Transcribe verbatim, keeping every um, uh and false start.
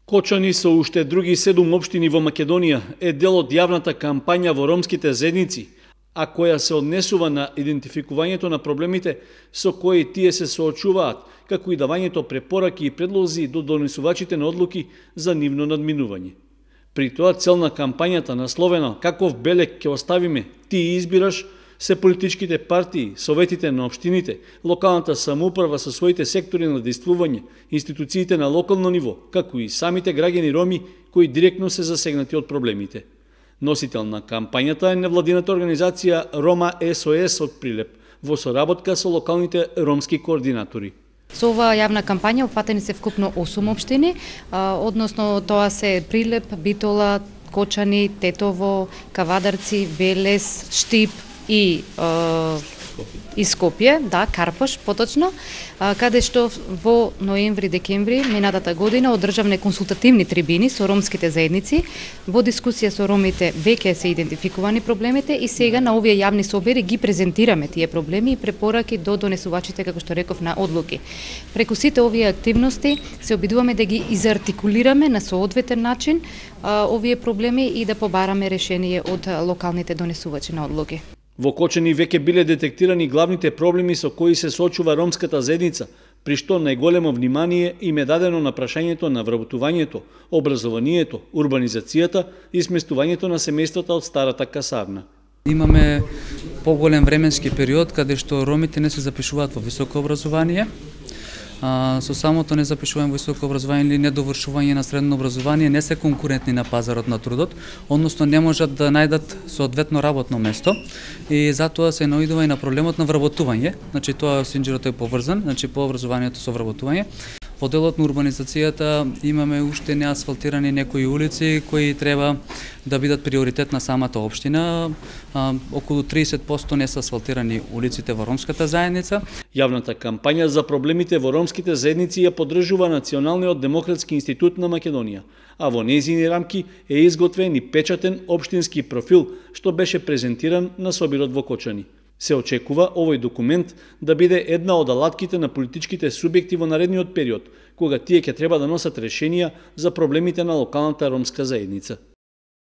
Кочани со уште други седум општини во Македонија е дел од јавната кампања во ромските заедници, а која се однесува на идентификувањето на проблемите со кои тие се соочуваат, како и давањето препораки и предлози до донесувачите на одлуки за нивно надминување. При тоа цел на кампањата насловена "Каков белег ќе оставиме, ти избираш", се политичките партии, советите на општините, локалната самоуправа со своите сектори на действување, институциите на локално ниво, како и самите граѓани роми кои директно се засегнати од проблемите. Носител на кампањата е невладината организација Рома С О С од Прилеп, во соработка со локалните ромски координатори. Со оваа јавна кампања опфатени се вкупно осум општини, а, односно тоа се Прилеп, Битола, Кочани, Тетово, Кавадарци, Велес, Штип и а, и Скопје, да, Карпош, поточно, а, каде што во ноември-декември минатата година одржавне консултативни трибини со ромските заедници. Во дискусија со ромите веќе се идентификувани проблемите и сега на овие јавни собери ги презентираме тие проблеми и препораки до донесувачите, како што реков, на одлуки. Преку сите овие активности се обидуваме да ги изартикулираме на соодветен начин а, овие проблеми и да побараме решение од локалните донесувачи на одлуки. Во Кочани веќе биле детектирани главните проблеми со кои се соочува ромската заедница, при што најголемо внимание им е дадено на прашањето на вработувањето, образованието, урбанизацијата и сместувањето на семејствата од старата касарна. Имаме поголем временски период каде што ромите не се запишуваат во високо образование. А, со самото незапишување во високо образование или недовршување на средно образование не се конкурентни на пазарот на трудот, односно не можат да најдат соодветно работно место и затоа се наоѓува и на проблемот на вработување. Значи тоа синџирот е поврзан, значи по образованието со вработување. Во делот на урбанизацијата имаме уште неасфалтирани некои улици кои треба да бидат приоритет на самата општина. А, околу триесет проценти не се асфалтирани улиците во ромската заедница. Јавната кампања за проблемите во ромските заедници ја поддржува Националниот демократски институт на Македонија, а во нејзини рамки е изготвен и печатен општински профил, што беше презентиран на собирот во Кочани. Се очекува овој документ да биде една од алатките на политичките субјекти во наредниот период, кога тие ќе треба да носат решенија за проблемите на локалната ромска заедница.